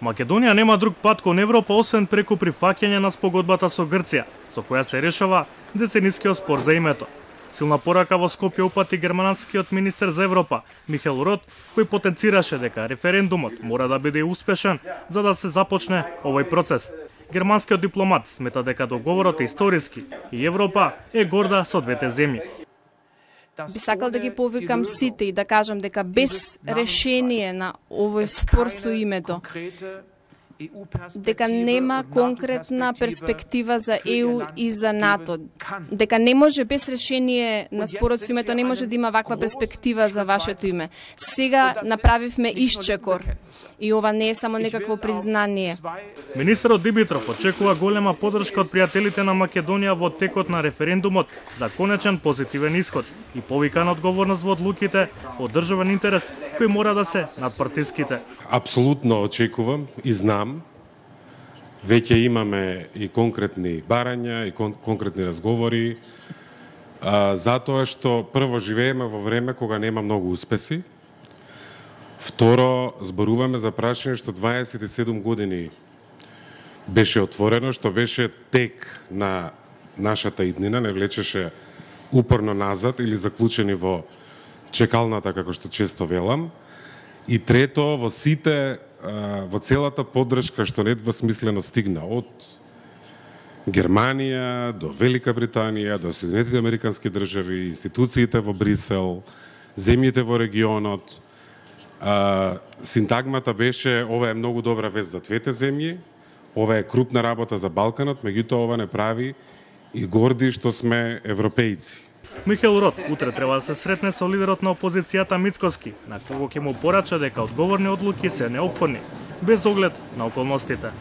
Македонија нема друг пат кон Европа освен преку прифаќање на спогодбата со Грција, со која се решава деценискиот спор за името. Силна порака во Скопје упати германскиот министер за Европа Михел Рот, кој потенцираше дека референдумот мора да биде успешен за да се започне овој процес. Германскиот дипломат смета дека договорот е историски и Европа е горда со двете земји. Би сакал да ги повикам сите и да кажам дека без решение на овој спор со името, дека нема конкретна перспектива за ЕУ и за НАТО, дека не може без решение на спорот со името, не може да има ваква перспектива за вашето име. Сега направивме исчекор и ова не е само некакво признание. Министерот Димитров очекува голема поддршка од пријателите на Македонија во текот на референдумот за конечен позитивен исход и повика на одговорност во одлуките од државен интерес кои мора да се надпартиските. Апсолутно очекувам и знам, веќе имаме и конкретни барања и конкретни разговори, затоа што прво живееме во време кога нема многу успеси, второ зборуваме за прашање што 27 години беше отворено, што беше тек на нашата иднина, не влечеше упорно назад или заклучени во чекалната, како што често велам. И трето, во сите, во целата поддршка што недвосмислено стигна од Германија до Велика Британија, до Соединетите Американски држави, институциите во Брисел, земјите во регионот, синтагмата беше ова е многу добра вест за двете земји, ова е крупна работа за Балканот, меѓутоа ова не прави и горди што сме европејци. Михел Рот утре треба да се сретне со лидерот на опозицијата Мицкоски, на кого ќе му порача дека одговорни одлуки се неопходни, без оглед на околностите.